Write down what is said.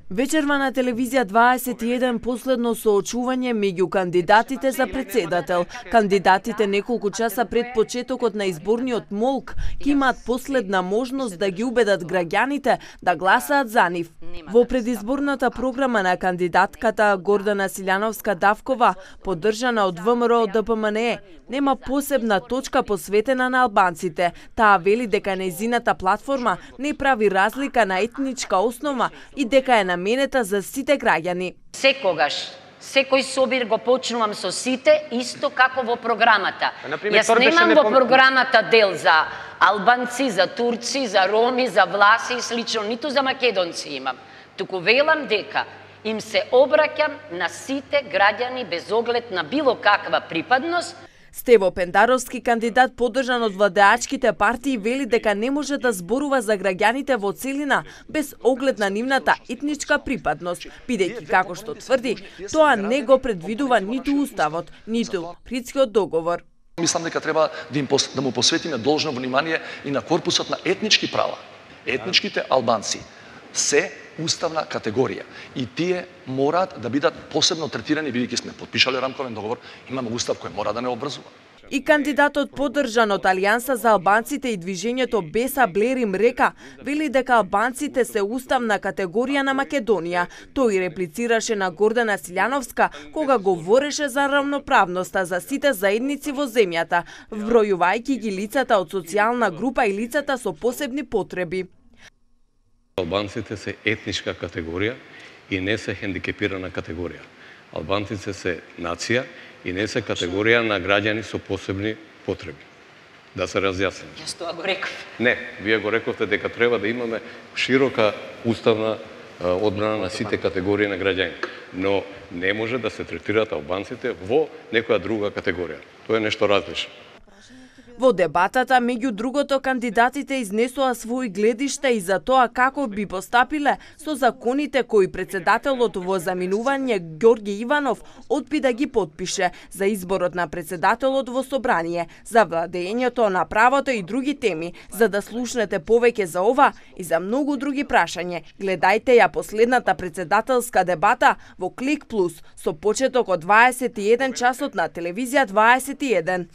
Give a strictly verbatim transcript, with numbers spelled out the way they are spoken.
Вечерва на телевизија дваесет и еден последно соочување меѓу кандидатите за председател. Кандидатите неколку часа пред почетокот на изборниот молк ќе имаат последна можност да ги убедат граѓаните да гласаат за нив. Во предизборната програма на кандидатката Гордана Силјановска-Давкова, поддржана од ВМРО Д П М Н Е, нема посебна точка посветена на албанците. Таа вели дека нејзината платформа не прави разлика на етничка основа и дека е наменета за сите граѓани. Секогаш, секој собир го почнувам со сите, исто како во програмата. Например, Јас немам во програмата дел за албанци, за турци, за роми, за власи и слично, ниту за македонци имам. Туку велам дека им се обраќам на сите граѓани без оглед на било каква припадност. Стево Пендаровски, кандидат поддржан од владеачките партии, вели дека не може да зборува за граѓаните во целина без оглед на нивната етничка припадност, бидејќи, како што тврди, тоа не го предвидува ниту уставот, ниту Придскиот договор. Мислам дека треба да, им, да му посветиме должно внимание и на корпусот на етнички права. Етничките албанци се уставна категорија и тие мораат да бидат посебно третирани, бидејќи сме потпишале рамковен договор, имаме устав кој мора да не обврзува. И кандидатот поддржан од Алијанса за албанците и движењето Беса Блери Мрека вели дека албанците се уставна категорија на Македонија. Тој реплицираше на Гордана Силјановска кога говореше за равноправноста за сите заедници во земјата, вбројувајќи ги лицата од социјална група и лицата со посебни потреби. Албанците се етничка категорија и не се хендикепирана категорија. Албанците се нација и не се категорија на граѓани со посебни потреби. Да се разјасним. Јас тоа го реков. Не, вие го рековте дека треба да имаме широка уставна одбрана на сите категории на граѓани, но не може да се третираат албанците во некоја друга категорија. Тоа е нешто различно. Во дебатата, меѓу другото, кандидатите изнесоа своји гледишта и за тоа како би постапиле со законите кои председателот во заминување Ѓорѓе Иванов одби да ги потпише за изборот на председателот во собрание, за владењето на правото и други теми. За да слушнете повеќе за ова и за многу други прашања, гледајте ја последната председателска дебата во Клик Плюс со почеток од дваесет и еден часот на телевизија дваесет и еден.